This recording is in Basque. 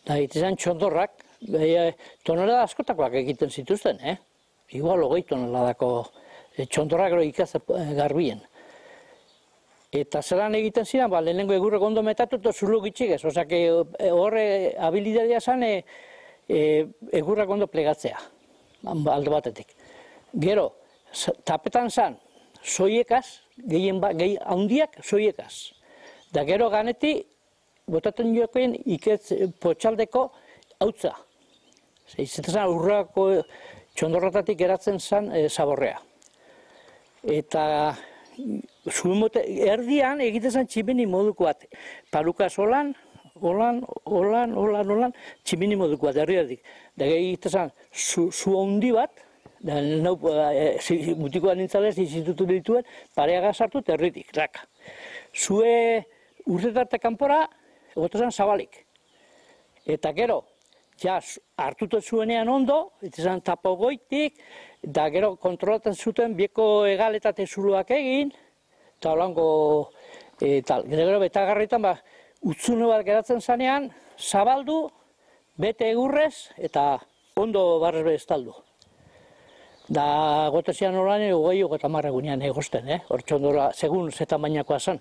Da, itizan txondorrak, tonelada askotakoak egiten zituzten, Igual 20 toneladako txondorrak ikaz garbien. Eta zelan egiten ziren, lehenengo egurrek ondo metatu eta zulo gitxigez. Osea, horre habilidadea zen egurrak ondo plegatzea, alde batetik. Gero, tapetan zen, soiekaz, gehi handiak soiekaz. Da gero ganeti, botatzen jokoen iketz potxaldeko hautza. Izaten zen urrako txondorratatik geratzen zen zaborrea. Eta erdian egiten zen tximini moduko bat. Palukaz holan, tximini moduko bat, erdi. Da egiten zen zu handi bat, mutikoan nintzalez institutu dituen, pareaga sartu eta erditik. Zue urtetarte kanpora, egoten zen zabalik. Eta gero, hartutu zuenean ondo, izan tapo goitik, da gero kontrolatzen zuten bieko egaletate zuloak egin, eta holango, gero betagarritan, utzune bat geratzen zanean, zabaldu, bete egurrez, eta ondo barrez bestaldu. Da, gotezian holan, 20-30 egunean egosten, hor txondora, segun ze tamainakoa zen.